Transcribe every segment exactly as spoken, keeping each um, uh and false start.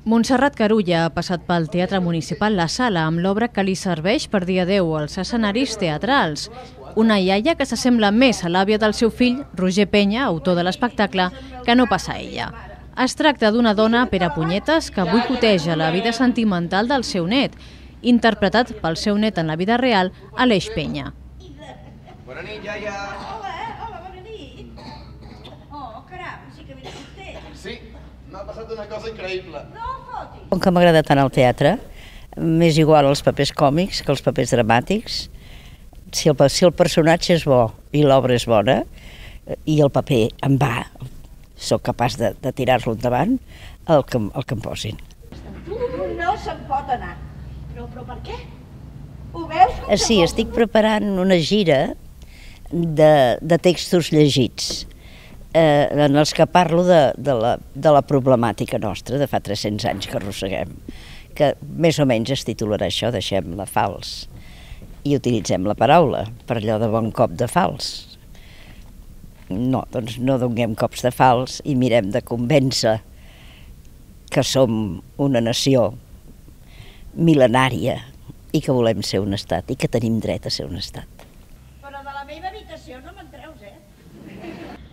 Montserrat Carulla ha passat pel Teatre Municipal La Sala amb l'obra que li serveix per dir adeu als escenaris teatrals. Una iaia que s'assembla més a l'àvia del seu fill, Roger Penya, autor de l'espectacle, que no pas a ella. Es tracta d'una dona perapunyetes que boicoteja la vida sentimental del seu net, interpretat pel seu net en la vida real, Aleix Penya. Bona nit, iaia. Hola, hola, bona nit. Oh, caram, sí que vens content. Sí, m'ha passat una cosa increïble. No fotis. Com que m'agrada tant el teatre, m'és igual els papers còmics que els papers dramàtics. Si el, si el personatge és bo i l'obra és bona i el paper em va, sóc capaç de, de tirar-lo endavant, el que, el que em posin. No se'n pot anar. Però, però per què? Ho veus com Sí, estic preparant una gira de, de textos llegits, eh, en els que parlo de, de, la, de la problemàtica nostra de fa tres-cents anys que arrosseguem, que més o menys es titularà això, deixem-la fals, i utilitzem la paraula per allò de bon cop de fals. No, doncs no donem cops de fals i mirem de convèncer que som una nació mil·lenària i que volem ser un estat i que tenim dret a ser un estat. Però de la meva habitació no me'n treus, eh?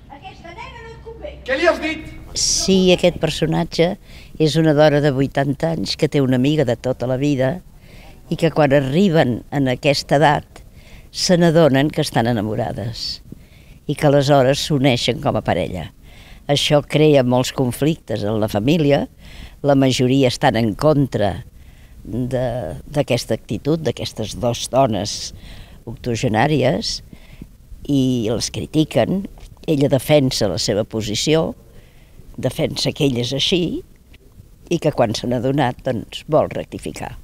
Aquesta nena no et convé. Què li has dit? Sí, aquest personatge és una dona de vuitanta anys que té una amiga de tota la vida i que quan arriben en aquesta edat se n'adonen que estan enamorades i que aleshores s'uneixen com a parella. Això crea molts conflictes en la família, la majoria estan en contra d'aquesta actitud, d'aquestes dues dones octogenàries, i les critiquen. Ella defensa la seva posició, defensa que ell és així i que quan se n'ha adonat doncs, vol rectificar.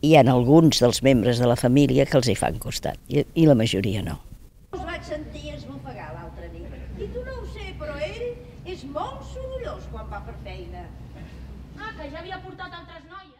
Hi ha alguns dels membres de la família que els hi fan costat i, i la majoria no. Us vaig sentir esbufegar l'altre nit. I tu no ho sé, però ell és molt sorollós quan va per feina. Ah, que ja havia portat altres noies.